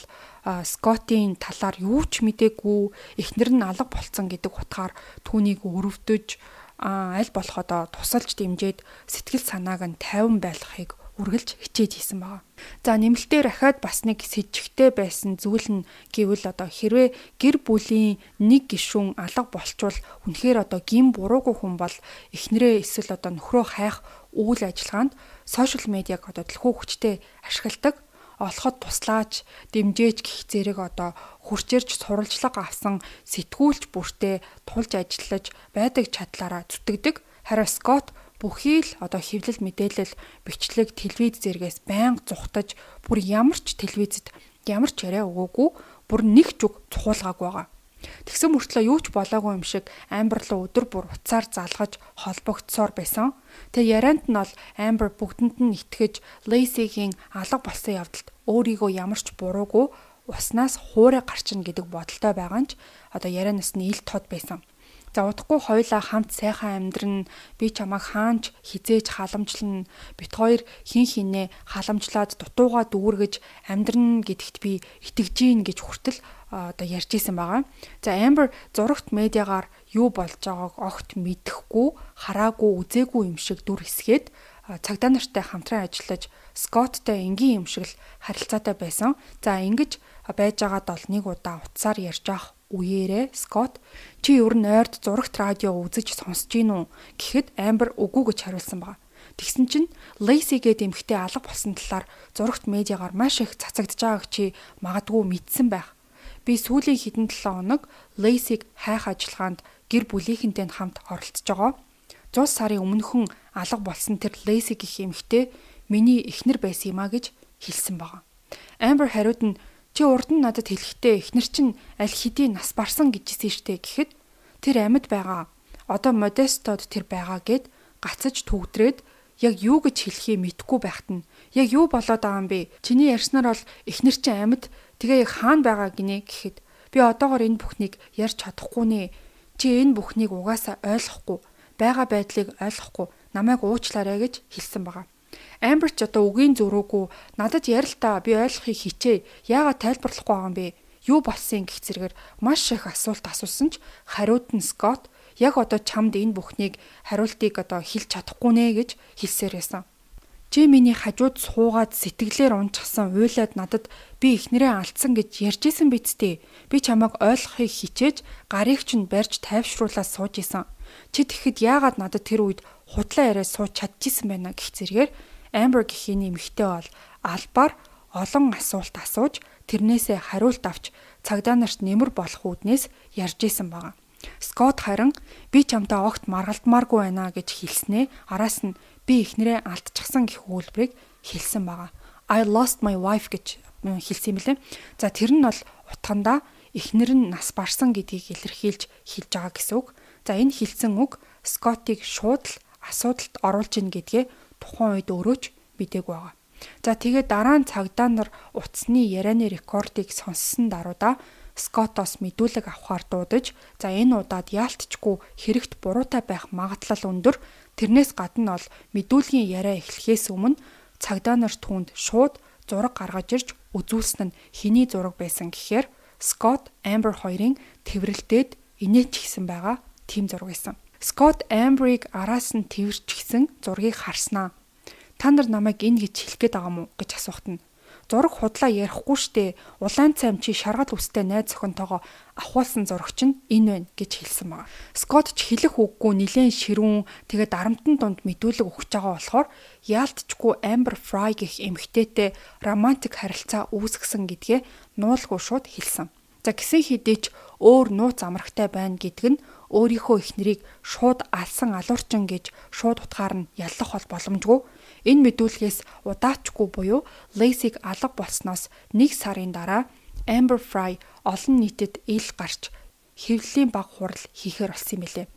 Скотийн талаар юу ч мэдээгүй, эхнэр нь алга болцсон гэдэг утгаар түүнийг өрөвдөж аль болох одоо тусалж дэмжиж сэтгэл санааг нь тайван байлгахыг үргэлж хичээж хийсэн байгаа. За нэмэлтээр ахаад бас нэг сэжигтэй байсан зүйл нь гэвэл одоо хэрвээ гэр бүлийн нэг гишүүн алга болчвол үнэхээр одоо гин буруугүй хүн бол эхнэрээ эсвэл одоо нөхрөө хайх үйл ажиллагаанд сошиал медиаг одоо төлхөө хүчтэй ашигладаг. Олоход туслаач, дэмжээч гэх зэрэг одоо хурцэрж сурвалжлага авсан сэтгүүлч бүртээ тулж ажиллаж байдаг чадлаараа зүтгэдэг. Харин Скот бүхий л одоо хэвлэл мэдээлэл, бичлэг, телевиз зэрэгээс байнга зүхтаж бүр ямар ч телевизэд ямар ч яриа өгөөгүй, бүр нэг ч үг цухуулгаагүй байгаа. Тэгсэн мөртлөө юу ч болоогүй юм шиг Амбер руу өдөр бүр уцаар залгаж холбогдсоор байсан. Тэгээ ярианд нь бол Амбер бүгдэнд нь итгэж Лейсигийн алга болсон явдалд өөрийгөө ямар ч буруугүй уснаас хуурай гарчна гэдэг бодолтой байгаа нь ч одоо ярианаас нь ил тод байсан. За удахгүй хоёлаа хамт сайхан амьдран, би чамайг хаанч хизээж халамжлана, бит хоёр хин хинээ халамжлаад дутуугаа дүүргэж амьдран гэдэгт би итгэж гин гэж хүртэл одоо ярьж исэн байгаа. За Amber зурагт медиагаар юу болж байгааг огт мэдэхгүй, хараагүй, үзээгүй юм шиг дүр хэсгээд цагдаа нартай хамтран ажиллаж Скоттой энгийн юм шиг л харилцаатай байсан. За ингэж байж байгаад бол нэг удаа утсаар ярьж авах үеэрээ Скот чи ер нь ойрд зурагт радио үзэж сонсож гин үү гэхэд Амбер үгүй гэж хариулсан байна. Тэгсэн чинь Лейси гээд эмэгтэй алга болсон талаар зурагт медиагаар маш их цацагдж байгааг чи магадгүй мэдсэн байх. Би сүүлийн хэдэн долоо хоног Лейсиг хайх ажиллагаанд гэр бүлийнхэнтэй хамт оролцож байгаа. зуун сарын өмнөхөн алга болсон тэр Лейси гэх эмэгтэй миний эхнэр байсан юм а гэж хэлсэн байгаа. Амбер хариуд нь чи урд нь надад хэлэхдээ эхнэр чинь аль хэдийн нас барсан гэжсэн штэ гэхэд тэр амьд байгаа. Одоо Модестод тэр байгаа гэд гацаж төгдрээд яг юу гэж хэлхийг мэдэхгүй байхад нь яг юу болоод байгаа юм бэ? Чиний ярьснаар бол эхнэр чинь амьд тэгээ яг хаана байгаа гинэ гэхэд би одоогоор энэ бүхнийг ярьж чадахгүй нэ. Чи энэ бүхнийг угаасаа ойлгохгүй, байгаа байдлыг ойлгохгүй, намайг уучлаарай гэж хэлсэн байгаа. Амбер ч одоо үгийн зөрүүгүй надад ярь л та би ойлгохыг хичээ. Яагаад тайлбарлахгүй байгаа юм бэ? Юу болсон гэх зэрэгээр маш их асуулт асуусан ч хариуд нь Скот яг одоо чамд энэ бүхнийг хариултыг одоо хэлж чадахгүй нэ гэж хэлсээр байсан. Чи миний хажууд суугаад сэтгэлээр унчсан уйлаад надад би эхнэрээ алдсан гэж ярьж исэн биз дээ. Би чамайг ойлгохыг хичээж гарыг чинь барьж тайвшруулаад сууж исэн. Чи тэгэхэд яагаад надад тэр үед худлаа яриа сууж чадчихсан байна гэх зэрэгээр Amber гэх эмэгтэй бол албаар олон асуулт асууж тэрнээсээ хариулт авч цагдаа нарт нэмэр болох үүднээс ярьж исэн байгаа. Скот харин би чамтай огт маргалдмааргүй байна гэж хэлснээ араас нь би эхнэрээ алдчихсан гэх үйлбэрийг хэлсэн байгаа. I lost my wife гэж хэлсэн юм лээ. За тэр нь бол утгандаа эхнэр нь нас барсан гэдгийг илэрхийлж хэлж байгаа гэсэн үг. За энэ хэлсэн үг Скотыг шууд л асуудалд оруулж ийн гэдгээ тухайн үед өрөөч мдэггүй байгаа. За тэгээд дараа нь цагдаа нар утасны ярианы рекордыг сонссон даруйда Скотоос мэдүүлэг авахар дуудаж, за энэ удаад яалтчгүй хэрэгт буруутай байх магадлал өндөр. Тэрнээс гадна бол мэдүүлгийн яриа эхлэхээс өмнө цагдаа нар түүнд шууд зураг гаргаж ирж үзүүлсэн нь хэний зураг байсан гэхээр Scott Amber хоёрын тэврэлдээд инээч гисэн байгаа тийм зураг байсан. Scott Amber-ыг араас нь тэвэрч гисэн зургийг харснаа. Та нар намайг энэ гэж хэлэх гээд байгаа мó гэж асуухт нь зураг худлаа ярихгүй штэ. Улаан цайм чи шаргал үстэй найз охинтойгоо авахулсан зурагч нь энэ байна гэж хэлсэн байгаа. Scott ч хэлэх үггүй нилээн ширүүн тэгээд дарамтны дунд мэдүүлэг өгч байгаа болохоор яалтчгүй Amber Fry гэх эмэгтэйтэй романтик харилцаа үүсгэсэн гэдгээ нуулгүй шууд хэлсэн. За гисэн хэдий ч өөр нууц амрагтай байна гэдг нь өөрийнхөө эхнэрийг шууд алсан алуурчин гэж шууд утгаар нь яллах бол боломжгүй. Энэ мэдүүлгээс удаачгүй буюу Lacey-г алга болсноос нэг сарын дараа Amber Fry олон нийтэд ил гарч хэвлэлийн баг хурал хийхээр болсон юм билээ.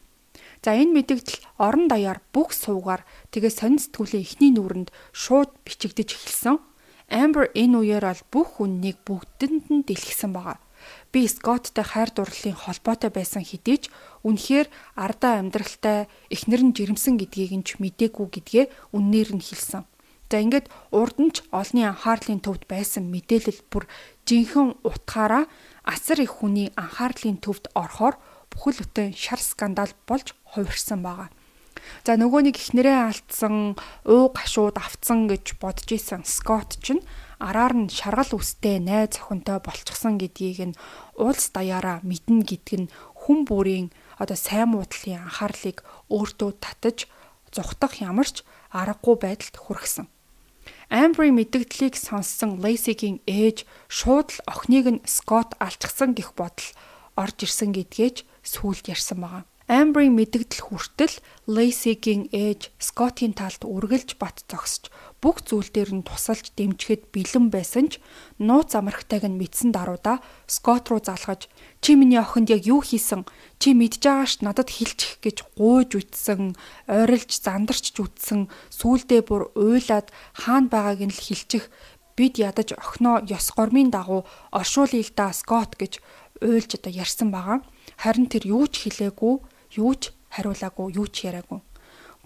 За энэ мэдээлэл орон даяар бүх суугаар тэгээ сонин сэтгүүлийн эхний нүрэнд шууд бичигдэж эхэлсэн. Amber энэ үеэр бол бүх үннийг бүгдэнд нь дэлгэсэн байгаа. Би Scottтэй хайр дурлалын холбоотой байсан хэдий ч үнэхээр ардаа амьдралтай эхнэр нь жирэмсэн гэдгийг нь ч мдээгүй гэдгээ үннээр нь хэлсэн. За ингээд урд нь ч олонний анхаарлын төвд байсан мэдээлэл бүр жинхэнэ утгаараа асар их хүний анхаарлын төвд орохоор бүхэл бүтэн шар скандал болж хувирсан байгаа. За нөгөө нэг эхнэрээ алдсан, уу гашууд автсан гэж бодож исэн Scott ч араар нь шаргал үстэй найз охинтой болчихсон гэдгийг нь уулс даяараа мэднэ гэдг нь хүн бүрийн одоо сайн муудлын анхаарлыг өөртөө татаж зүхтах ямарч аргагүй байдалд хүргэсэн. Amber-ийн мэдээллийг сонссон Lacey-гийн ээж шууд л охиныг нь Scott алчсан гэх бодол орж ирсэн гэдгээч сүүлд ярьсан байгаа. Amber-ийн мэдээлэл хүртэл Lacey-гийн ээж Scott-ийн талд үргэлж бат зогсож бүх зүйл дээр нь тусалж дэмжихэд бэлэн байсан ч нууц амрагтайг нь мэдсэн даруйда Scott руу залгаж чи миний охинд яг юу хийсэн? Чи мэдж байгаа ш надад хэлчих гэж гуйж үтсэн, ойрлж зандарч үтсэн, сүүлдээ бүр уйлаад хаана байгааг нь л хэлчих. Бид ядаж охиноо ёс гормын дагуу оршуулъя л да Scott гэж уйлж одоо ярьсан байгаа. Харин тэр юу ч хэлээгүй, юу ч хариулаагүй, юу ч яриагүй.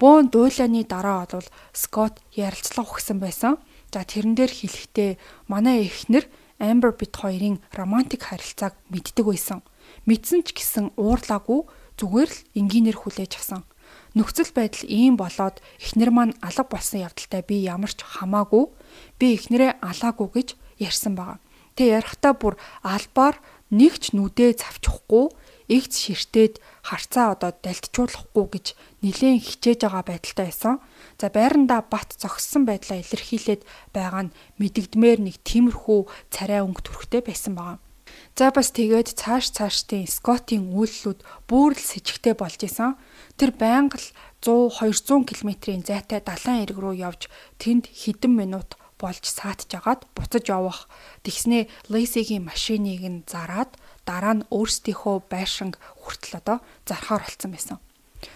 Бөөн дуйлааны дараа бол Scott ярилцлага өгсөн байсан. За тэрэн дээр хэлэхдээ манай эхнэр Amber бит хоёрын романтик харилцааг мэддэг байсан. Мэдсэн ч гэсэн уурлаагүй, зүгээр л энгийнээр хүлээж авсан. Нөхцөл байдал ийм болоод эхнэр маань алга болсон явдалтай би ямар ч хамаагүй, би эхнэрээ алаагүй гэж ярьсан байгаа. Тэ ярихтаа бүр албаар нэг ч нүдээ завчихгүй, игц ширтээд харцаа одоо далтжуулахгүй гэж нилээн хичээж байгаа байдалтай байсан. За байрандаа бат зогссон байдлаа илэрхийлээд байгаа нь мэдэгдмээр нэг тиймэрхүү царай өнгө төрхтэй байсан байгаа. За бас тэгээд цааш цаашдын Scott-ийн үйлслүүд бүр л с ิจ гтэй болж исэн. Тэр байнга л сто двести км-ийн зайтай далайн эрэг рүү явж тэнд хэдэн минут болж саатж агаад буцаж явах. Тэгснээ Lacey-гийн машиныг нь зараад дараа нь өөрсдийнхөө байшинг хүртэл одоо зархаар болсон байсан.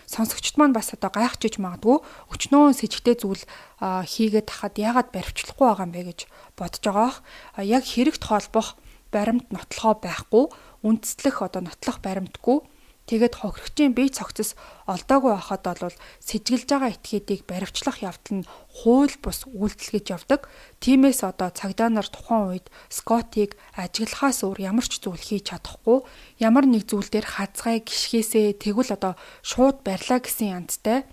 Сонсогчд маань бас одоо гайхаж магадгүй өчнөө с ิจ гтэй зүйл хийгээд тахад яагаад баривчлахгүй байгаа юм бэ гэж бодож байгаах. Яг хэрэгт холбох баримт нотлохоо байхгүй, үндэслэх одоо нотлох баримтгүй. Тэгээд хохирогчийн бие цогцос олдоогүй байхад бол сэжиглэж байгаа этгээдийг баривчлах явдал нь хууль бус үйлдэл гэж явдаг. Тиймээс одоо цагдаа нар тухайн үед Scott-ыг ажиглахаас өөр ямар ч зүйл хийж чадахгүй, ямар нэг зүйл дээр хазгай гიშгээсээ тэгвэл одоо шууд барьлаа гэсэн янзтай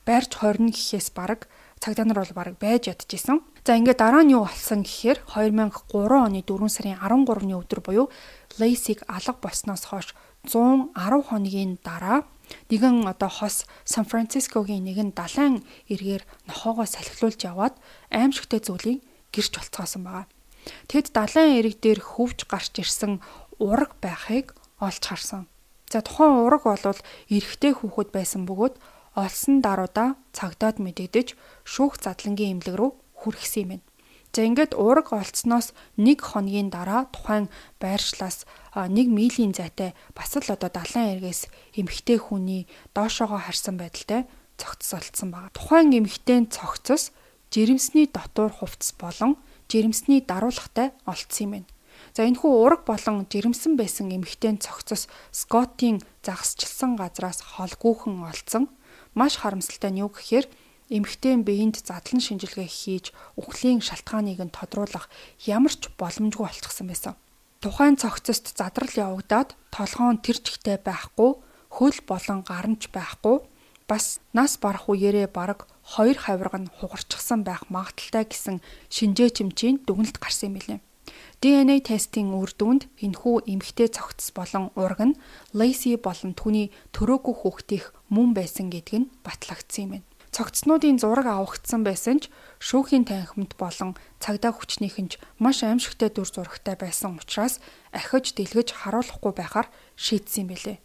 барьж хорно гэхээс бараг цагдаа нар бол бараг байж ядчихсан. За ингээд дараа нь юу болсон гэхээр две тысячи и три оны дөрвөн сарын арван гуравны өдөр буюу Lacey-г алга болсноос хойш one hundred хоногийн дараа нэгэн одоо хос Сан Францискогийн нэгэн далайн эргээр нохоогоо салхилуулж яваад аимшигтэй зүйлийг гэрч болцоосон байгаа. Тэд далайн эрэг дээр хөвж гарч ирсэн ураг байхыг олж харсан. За тухайн ураг бол эрэгтэй хүүхэд байсан бөгөөд олсон даруйда цагдаад мэдэгдэж шүүх задлангийн эмнэлэг рүү хүргэсэн юм байна. За ингээд ураг олцсноос нэг хоногийн дараа тухайн байршлаас нэг милийн зайтай бас л одоо далайн эргээс эмэгтэй хүний доошоогоо харсан байдалтай цогцос олдсон байна. Тухайн эмэгтэйн цогцос жирэмсний дотуур хувцас болон жирэмсний даруулгатай олдсон юм байна. За энэхүү ураг болон жирэмсэн байсан эмэгтэйн цогцос Scott-ийн загасчилсан газраас холгүйхэн олдсон. Маш харамсалтай нь юу гэхээр Эмэгтэй биеинд задлан шинжилгээ хийж үхлийн шалтгааныг нь тодруулах ямар ч боломжгүй болчихсон байсан. Тухайн цогцост задрал явагдаад толгоон тэр чигтээ байхгүй, хөл болон гарамж байхгүй, бас нас барах үеэрээ бараг хоёр хавирга нь хугарчихсан байх магадaltaй гэсэн шинжээ чимчийн дүгнэлт гарсан юм билээ. ди эн эй тестийн үр дүнд энэхүү эмэгтэй цогц болон ураг нь Лейси болон түүний төрөөгүй хүүхдийнх мөн байсан гэдг нь батлагдсан юм байна. Цогцнуудын зураг авагдсан байсан ч шүүхийн танхимд болон цагдаа хүчнийхэн ч маш аимшигтай дүр зурагтай байсан учраас ахиж дэлгэж харуулахгүй байхаар шийдсэн юм билээ.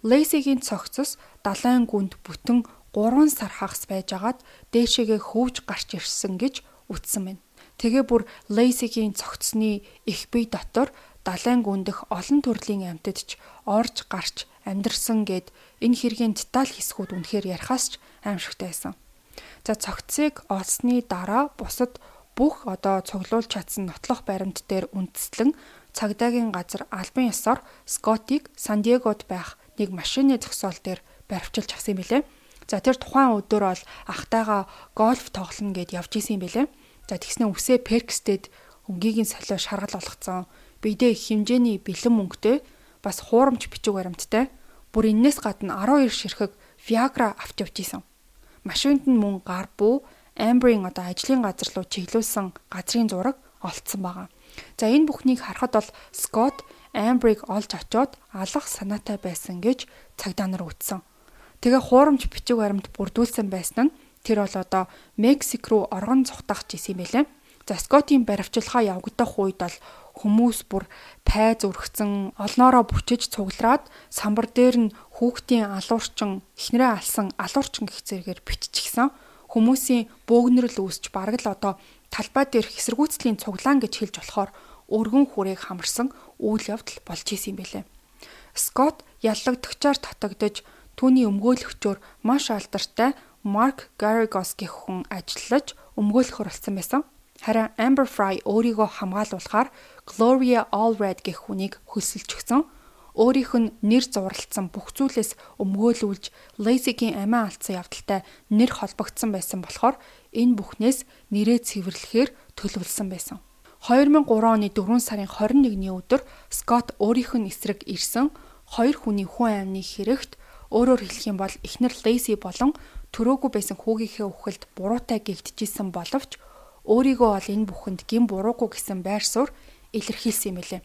Лейсигийн цогцос далайн гүнд бүтэн гурван сар хагас байжгаад дээшээгээ хөвж гарч ирсэн гэж үздсэн байна. Тэгээ бүр Лейсигийн цогцсны их бие дотор далайн гүндэх олон төрлийн амьтад ч орж гарч амьдэрсэн гэд энэ хэргийн деталь хэсгүүд үнэхээр ярихаас ч аимшигтай байсан. За цогцыг олсны дараа бусад бүх одоо цуглуулж чадсан нотлох баримт дээр үндэслэн цагдаагийн газар албан ёсоор Скоттыг Сан Диегод байх нэг машины зогсоол дээр баривчилж авсан юм билээ. За тэр тухайн өдөр бол ахтайгаа гольф тоглоно гэд явж исэн юм билээ. За тэгснэ үсээ Перкстэд өнгийн солио шаргал болгоцсон. Бидээ их хэмжээний бэлэн мөнгөтэй бас хуурамч бичиг баримттай. Бүр энэс гадна арван хоёр ширхэг Viagra авч явж исэн. Машинд нь мөн гар бүү Amber-ийн одоо ажлын газар руу чиглүүлсэн газрын зураг олцсон байгаа. За энэ бүхнийг харахад бол Scott Amber-ыг олж очоод алах санаатай байсан гэж цагдаа нар үтсэн. Тэгээ хуурамч бичиг баримт бүрдүүлсэн байсан нь тэр бол одоо Мексик руу оргон цухтах гэсэн юм байлээ. За Scott-ийн баривчилгаа явагдах үед бол хүмүүс бүр пайз өргөцсөн, олноороо бүчиж цуглараад самбар дээр нь хүүхдийн алуурчин, эхнэрээ алсан алуурчин гэх зэрэгээр биччихсэн. Хүмүүсийн бөөгнөрл үүсч бараг л одоо талбай дээр хэсэргүүцлийн цуглаан гэж хэлж болохоор өргөн хүрээг хамарсан үйл явдал болж исэн юм байлээ. Scott яллагдагчаар татагдж түүний өмгөөлөгчөөр маш алдартай Mark Garagos гэх хүн ажиллаж өмгөөлөхөр болсон байсан. Харин Amber Fry өөрийгөө хамгаалуулахаар Gloria Allred гэх хүнийг хөлсөлж өгсөн. Өөрийнх нь нэр зурлалцсан бүх зүйлээс өмгөөлүүлж Lacey-гийн амиа алдсан явдалтай нэр холбогдсон байсан болохоор энэ бүхнээс нэрээ цэвэрлэхээр төлөвлөсөн байсан. две тысячи три оны дөрвөн сарын двадцать нэгний өдөр Scott өөрийнх нь эсрэг ирсэн хоёр хүний хүн амны хэрэгт өөрөөр хэлэх юм бол эхнэр Lacey болон төрөөгүй байсан хүүгийнхээ үхэлд буруутай гэгдэжсэн боловч өөрийгөө бол энэ бүхэнд гин буруугүй гэсэн байр суурь илэрхийлсэн юм билээ.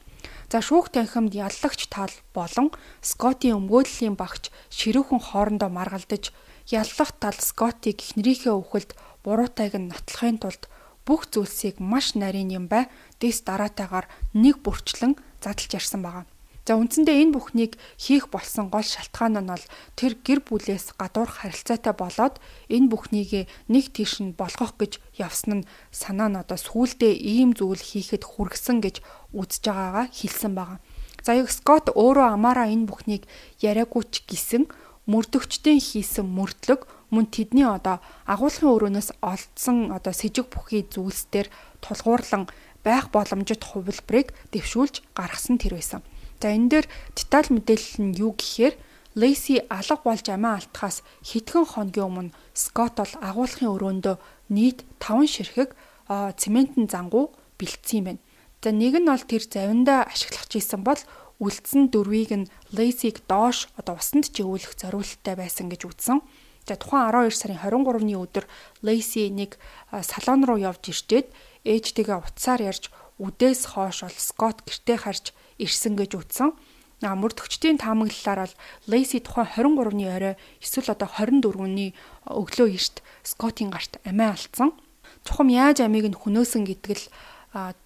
За шүүх танхимд яллагч тал болон Scott-ийн өмгөөллийн багч ширүүхэн хоорондоо маргалдаж яллах тал Scott-ийг эхнэрийнхээ үхэлд буруутайг нь нотлохын тулд бүх зүйлсийг маш нарийн юм бай дэс дараатайгаар нэг бүрчлэн задлж ярьсан байгаа. За үндсэндээ энэ бүхнийг хийх болсон гол шалтгаан нь бол тэр гэр бүлээс гадуурх харилцаатай болоод энэ бүхнийг нэг тийш нь болгох гэж явсан нь санаа нь одоо сүүлдээ ийм зүйл хийхэд хүргэсэн гэж үзэж байгаагаа хэлсэн байгаа. За яг Scott өөрөө амаараа энэ бүхнийг яриаггүй ч гэсэн мөрдөгчдийн хийсэн мөрдлөг мөн тэдний одоо агуулгын өрөөнөөс олдсон одоо сэжиг бүхий зүйлсээр тулгуурлан байх боломжит хувилбарыг дэвшүүлж гаргасан тэр байсан. За энэ дээр деталь мэдээлэл нь юу гэхээр Lacey алга болж амиа алдахаас хэдхэн хоногийн өмнө Scott бол агуулгын өрөөндөө нийт таван ширхэг цементэн зангуу бэлдсэн юм байна. За нэг нь бол тэр завиндаа ашиглах гэсэн бол үлдсэн дөрвийг нь Lacey-г доош одоо усанд жигүүлэх зориулттай байсан гэж үзсэн. За тухайн двадцать two сарын двадцать three-ны өдөр Lacey нэг салон руу явж ирчээд ээжтэйгээ утсаар ярьж үдээс хойш бол Scott гэртээ харж ирсэн гэж үзсэн. А мөрдөгчдийн таамаглалаар бол Lacey тухайн двадцать three-ны орой эсвэл одоо двадцать four-ны өглөө эрт Scott-ийн гарт амиа алдсан. Чухам яаж амийг нь хөнөөсөн гэдэг л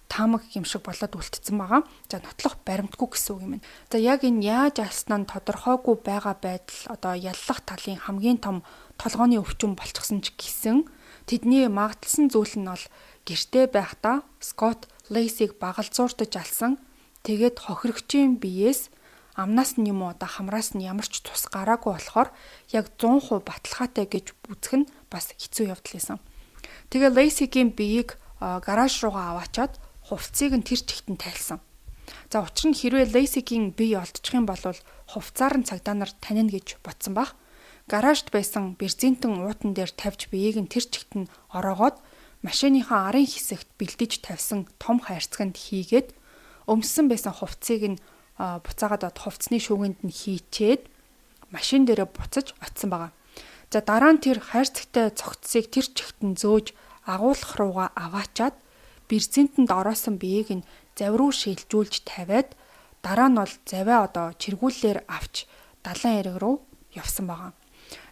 таамаг юм шиг болоод үлдсэн байгаа. За нотлох баримтгүй гэсэн үг юм байна. За яг энэ яаж алснаа нь тодорхойгүй байгаа байдал одоо яллах талын хамгийн том толгойн өвчин болчихсон ч гэсэн тэдний магадлсан зүйл нь бол гэртээ байхдаа Scott Lacey-г багалзууртаж алсан. Тэгээд хохирогчийн биеэс амнаас нь юм уу одоо хамраас нь ямар ч тус гараагүй болохоор яг one hundred percent баталгаатай гэж үзэх нь бас хэцүү явдал байсан. Тэгээ Lacey-гийн биеийг гараж руугаа аваачаад хувцсыг нь тэр чигтэн тайлсан. За учир нь хэрвээ Lacey-гийн бие олдчих юм бол хувцаар нь цагдаа нар танино гэж бодсон баг. гаражд байсан бензинтэн уутан дээр тавьж биеийг нь тэр чигт нь ороогоод машиныхаа арын хэсэгт бэлдэж тавьсан том хайрцагт хийгээд өмссөн байсан хувцсыг нь буцаагаад од хувцсны шүүгэнд нь хийчээд машин дээрээ буцаж очисон байгаа. За дараа нь тэр хайрцагтай цогцсыг тэр чигт нь зөөж агуулгах руугаа аваачаад бензинтэнд ороосон биеийг нь завь руу шилжүүлж тавиад дараа нь бол завиа одоо чиргүүллээр авч далайн эрэг рүү явсан байгаа.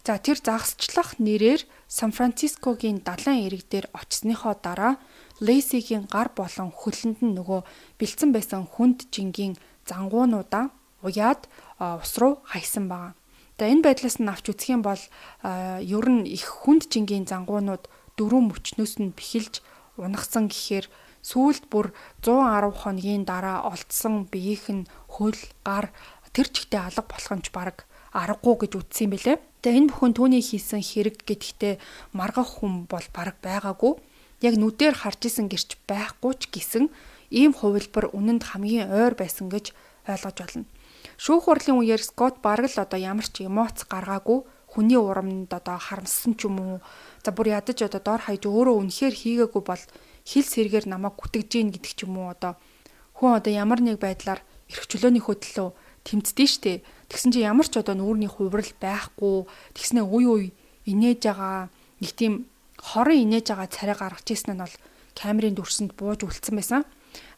За тэр загасчлах нэрээр Сан Францискогийн далайн эрэг дээр очсныхоо дараа Лейсигийн гар болон хөлөнд нь нөгөө бэлдсэн байсан хүнд жингийн зангуунуудаа уяад ус руу хайсан байгаа. За энэ байдлаас нь авч үзэх юм бол ер нь их хүнд жингийн зангуунууд дөрвөн мөчнөөс нь бэхэлж унагсан гэхээр сүүлд бүр зуун арав хоногийн дараа олдсон биеийнх нь хөл, гар тэр чигтээ алга болох юм ч бараг аргагүй гэж үздсэн юм бэлээ. Тэгээ энэ бүхэн түүний хийсэн хэрэг гэдэгтээ маргах хүн бол бараг байгаагүй. Яг нүдээр харж исэн гэрч байхгүй ч гэсэн ийм хувилбар үнэнд хамгийн ойр байсан гэж ойлгож байна. Шүүх хурлын үеэр Скот бараг л одоо ямар ч эмоц гаргаагүй, хүний урамд одоо харамссан ч юм уу. За бүр ядаж одоо дор хаяж өөрөө үнэхээр хийгээгүй бол хил сэргээр намайг гүтгэж гин гэдэг ч юм уу. Одоо хүн одоо ямар нэг байдлаар эрх чөлөөнийхөө төлөө тэмцдэж штэ. Тэгсэн чинь ямар ч одоо нүүрний хувирал байхгүй. Тэгснээ уй уй инээж байгаа нэг тийм хорон инээж байгаа царай гаргаж ирсэн нь бол камерын дүрсэнд бууж үлдсэн байсан.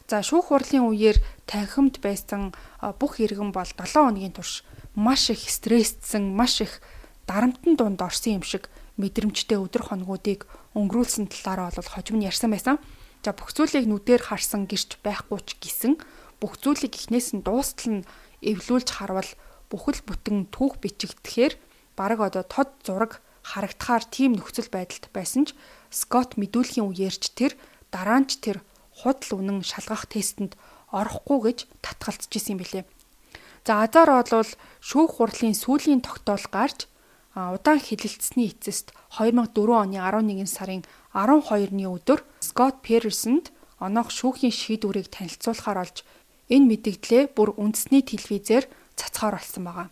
За шүүх хурлын үеэр танхимд байсан бүх иргэн бол долоон хоногийн турш маш их стрессдсэн, маш их дарамтны дунд орсон юм шиг мэдрэмжтэй өдөр хоногуудыг өнгөрүүлсэн талаараа бол хожим нь ярьсан байсан. За бүх зүйлийг нүдээр харсан гэрч байхгүй ч гэсэн бүх зүйлийг эхнээс нь дуустал нь эвлүүлж харвал бүхэл бүтэн түүх бичигдэхээр бараг одоо тод зураг харагдахаар тийм нөхцөл байдалд байсан ч Скот мэдүүлэхийн үеэрч тэр дараа нь ч тэр худал үнэн шалгах тестэнд орохгүй гэж татгалзаж исэн юм билээ. За азар бол шүүх хурлын сүүлийн тогтоол гарч удаан хэлэлцсэний эцэст две thousand four оны eleven сарын twelve-ны өдөр Скот Персонд оноох шүүхийн шийдвэрийг танилцуулахаар олж энэ мэдээлэлээ бүр үндэсний телевизээр цацхаар болсон байгаа.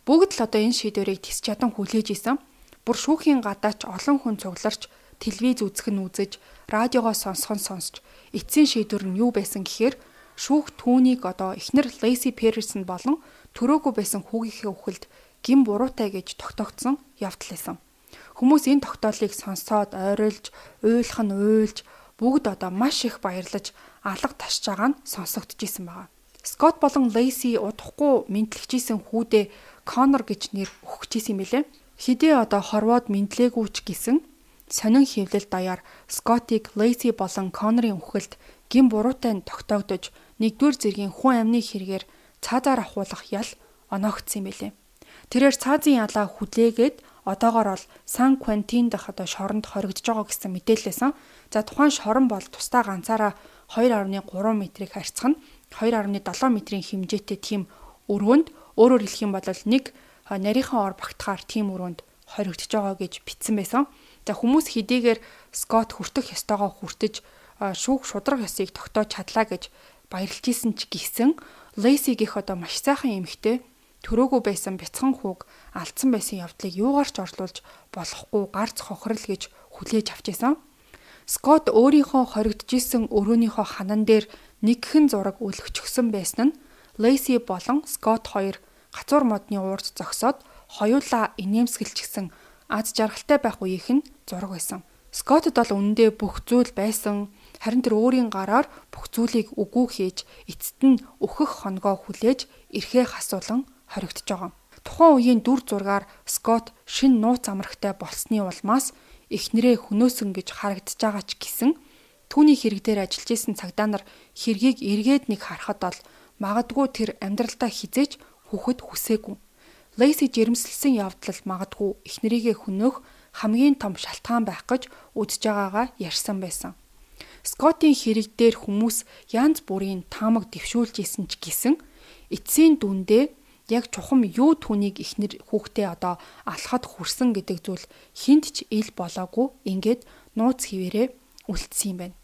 Бүгд л одоо энэ шийдвэрийг тис чадан хүлээж исэн. Бүр шүүхийн гадаач олон хүн цугларч телевиз үзэх нь үзэж, радиогоо сонсох нь сонсч эцсийн шийдвэр нь юу байсан гэхээр шүүх түүнийг одоо эхнэр Лейси Персон болон төрөөгүй байсан хүүгийнхээ үхэлд гин буруутай гэж тогтоогдсон явдал байсан. Хүмүүс энэ тогтоолыг сонсоод ойролж, уйлах нь уйлж, бүгд одоо маш их баярлаж алга ташж байгаа нь сонсогдчихсэн байгаа. Скот болон Лейси удахгүй мэдлэгчсэн хүүдээ Коннор гэж нэр өгчихсэн юм билээ. Хидээ одоо хорвоод мэдлээгүй ч гэсэн сонин хөвлөл даяар Скотыг Лейси болон Коннорын үхэлд гин буруутай нь тогтоогдож нэгдүгээр зэргийн хүн амны хэрэгээр цаазаар ахуулах ял оноогдсон юм билээ. Тэрээр цаазын ялаа хүлээгээд одоогоор бол Сан Квентин дах одоо шоронд хоригдож байгаа гэсэн мэдээлэлсэн. За тухайн шорон бол тусдаа ганцаараа two point three метрийг харьцах нь two point seven метрийн хэмжээтэй тийм өрөөнд өөрөөр хэлэх юм бол нэг нарийнхан ор багтахаар тийм өрөөнд хоригдож байгаа гэж бичсэн байсан. За хүмүүс хэдийгээр Скот хүртэх ёстойгоо хүртэж шүүх шудраг ёсыг тогтоож чадлаа гэж баярлж исэн ч гэсэн Лейсигийнх одоо маш сайхан эмэгтэй төрөөгүй байсан бяцхан хүүг алдсан байсан явдлыг юугаар ч орлуулж болохгүй гарц хохирол гэж хүлээж авч исэн. Скот өөрийнхөө хоригдож исэн өрөөнийхөө ханан дээр нэгхэн зураг өлгчгсөн байсан нь Лейси болон Скот хоёр гацуур модны уурд зогсоод хоёулаа инээмсэглчихсэн аз жаргалтай байх үеийнх нь зураг байсан. Скотод бол үнэндээ бүх зүйл байсан. Харин тэр өөрийн гараар бүх зүйлийг үгүй хийж эцэст нь өөхөх хоногоо хүлээж эрхээ хасуулан хоригдож байгаа. Тухайн үеийн дүр зургаар Скот шин нууц амрагтай болсны улмаас эхнэрээ хөнөөсөн гэж харагдаж байгаа ч гэсэн түүний хэрэг дээр ажиллаж исэн цагдаа нар хэргийг эргээд нэг харахад бол магадгүй тэр амьдралдаа хизээч хүүхэд хүсээгүй. Лейси жирэмсэлсэн явдал магадгүй эхнэрийгээ хөнөөх хамгийн том шалтгаан байх гэж үзэж байгаагаа ярьсан байсан. Скотийн хэрэг дээр хүмүүс янз бүрийн таамаг дэвшүүлж исэн ч гэсэн эцсийн дүндээ яг чухам юу түүнийг эхнэр хүүхдээ одоо алхахад хүрсэн гэдэг зүйл хинт ч ил болоогүй ингээд нууц хിവэрээ үлдсэн юм байна.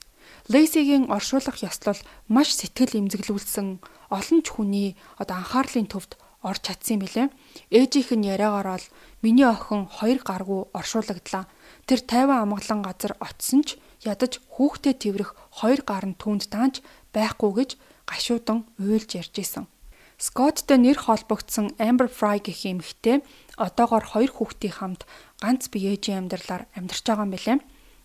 Лейсигийн оршуулах ёслол маш сэтгэл эмзэглүүлсэн олон ч хүний одоо анхаарлын төвд орж чадсан юм билээ. Ээжийнх нь яриагаар бол миний охин хоёр гаргүй оршуулагдлаа. Тэр тайван амгалан газар очсон ч ядаж хүүхдэд тэрвэх хоёр гар нь түүнд даанч байхгүй гэж гашуудан уйлж ярьж исэн. Скотттой нэр холбогдсон Amber Fry гэх эмэгтэй одоогоор хоёр хүүхдийн хамт ганц бие ээжийн амьдралаар амьдарч байгаа юм билээ.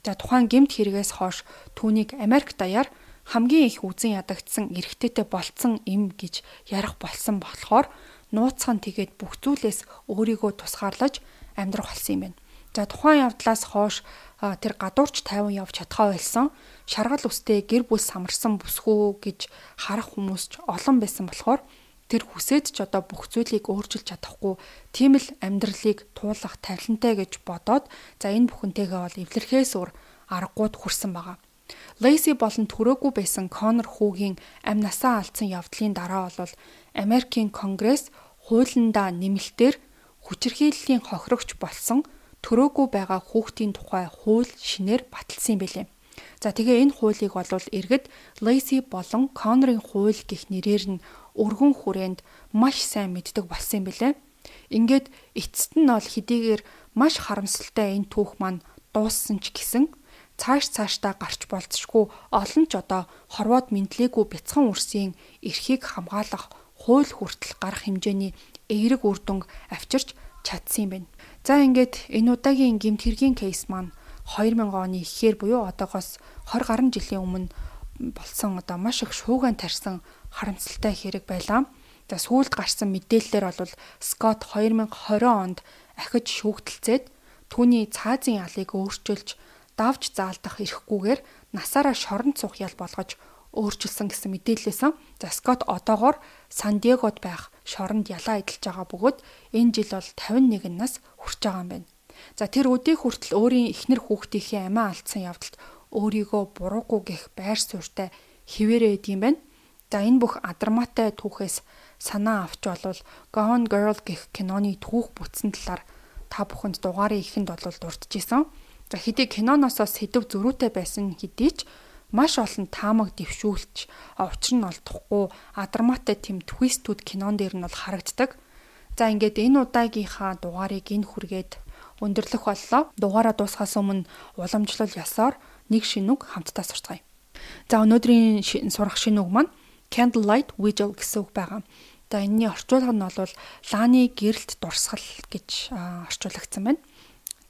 За тухайн гэмт хэрэгээс хойш түүнийг Америк даяар хамгийн их үзэн ядагдсан эрэгтэйтэй болцсон эм гэж ярих болсон болохоор нууцхан тэгээд бүх зүйлээс өөрийгөө тусгаарлаж амьдрах болсон юм байна. За тухайн явдлаас хойш тэр гадуурч тайван явж чадхаа байсан. Шаргал үстэй гэр бүл самарсан бүсгүй гэж харах хүмүүс ч олон байсан болохоор тэр хүсээд ч одоо бүх зүйлийг өөрчилж чадахгүй тийм л амьдралыг туулах тавилантай гэж бодоод за энэ бүхэнтэйгээ бол эвлэрхээс өөр аргагүйд хүрсэн байгаа. Лейси болон төрөөгүй байсан Коннор хүүгийн амь насаа алдсан явдлын дараа бол Америкийн Конгресс хуулиндаа нэмэлтээр хүчирхийллийн хохирогч болсон төрөөгүй байгаа хүүхдийн тухай хууль шинээр баталсан юм билээ. За тэгээ энэ хуулийг бол иргэд Лейси болон Коннорын хууль гэх нэрээр нь өргөн хүрээнд маш сайн мэддэг болсон юм билээ. Ингээд эцэст нь бол хэдийгээр маш харамсалтай энэ түүх маань дууссан ч гэсэн цааш цаашдаа гарч болцшгүй олон ч одоо хорвоод мэдлээгүй бяцхан үрсийн эрхийг хамгаалах хууль хүртэл гарах хэмжээний эерэг үр дүнг авчирч чадсан юм байна. За ингээд энэ удаагийн гэмт хэргийн кейс маань хоёр мянган оны ихээр буюу одоогоос двадцать гаруй жилийн өмнө болсон одоо маш их шууган тарьсан харамсалтай хэрэг байлаа. За сүүлд гарсан мэдээлэлээр бол Скотт две тысячи двадцать онд ахиж шүүгдэлцээд түүний цаазын ялыг өөрчилж давж заалдах эрхгүйгээр насаараа шоронд суух ял болгож өөрчилсөн гэсэн мэдээлэлсэн. За Скотт одоогоор Сан Диегод байх шоронд ялаа эдэлж байгаа бөгөөд энэ жил бол пятьдесят один нас хүрч байгаа юм байна. За тэр өдий хүртэл өөрийн эхнэр хүүхдийнхээ амиа алдсан явдалд өөрийгөө буруугүй гэх байр суурьтай хിവэрээ идэм байна. За энэ бүх адармаатай түүхээс санаа авч болвол Gone Girl гэх киноны түүх бүтсэн талаар та бүхэнд дугаарыг ихэнд бол дурдчихсан. За хэдий киноноос сэдв зөрүүтэй байсан хэдий ч маш олон таамаг дэвшүүлж учир нь олдохгүй адармаатай тэм твистүүд кинон дээр нь бол харагддаг. За ингээд энэ удаагийнхаа дугаарыг энэ хүргээд өндөрлөх боллоо. Дугаараа дуусгахаас өмнө уламжлал ёсоор нэг шинүг хамтдаа сурцгаая. За өнөөдрийн сурах шинүг маань Candlelight Vigil гэсэн үг байгаа. За энэний орчуулга нь бол лааны гэрэлт дурсгал гэж орчуулагдсан байна.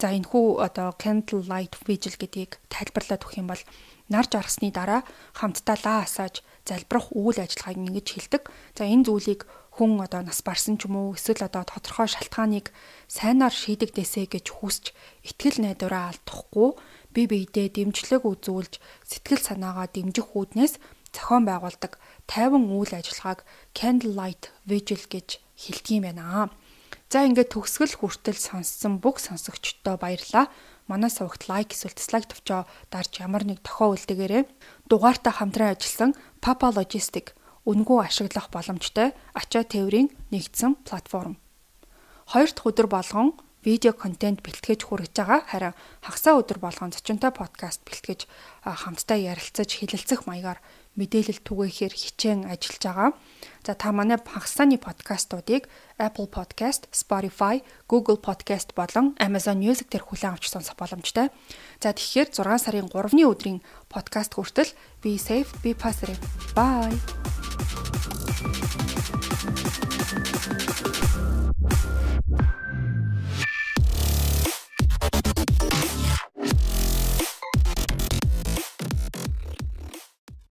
За энэхүү одоо Candlelight Vigil гэдгийг тайлбарлаад өгөх юм бол нар жаргасны дараа хамтдаа лаа асааж залбирах үйл ажиллагааг ингэж хэлдэг. За энэ зүйлийг хүн одоо нас барсан ч юм уу эсвэл одоо тодорхой шалтгааныг сайнаар шийдэгдээсэ гэж хүсч итгэл найдвараа алдахгүй бие биедээ дэмжлэг үзүүлж сэтгэл санаагаа дэмжих үүднээс зохион байгуулдаг тайван үйл ажиллагааг Candlelight Vigil гэж хэлдэг юм байна. За ингээд төгсгөл хүртэл сонссон бүх сонсогчдоо баярлалаа. Манай сувагт лайк эсвэл дизлайк товчоо дарж ямар нэг тохио үлдээгээрэй. Дугаартаа хамтран ажилласан Papa Logistic үнэгүй ашиглах боломжтой ачаа тээврийн нэгдсэн платформ. Хоёр дахь өдөр болгон видео контент бэлтгэж хүргэж байгаа. Харин хагасаа өдөр болгон зочинтой подкаст бэлтгэж хамтдаа ярилцаж хэлэлцэх маягаар мэдээлэл түгээхээр хичээн ажиллаж байгаа. За та манай хагасааны подкастуудыг Apple Podcast, Spotify, Google Podcast болон Amazon Music дээр хүлээн авч сонсох боломжтой. За тэгэхээр зургаан сарын гуравны өдрийн подкаст хүртэл be safe, be positive. Bye.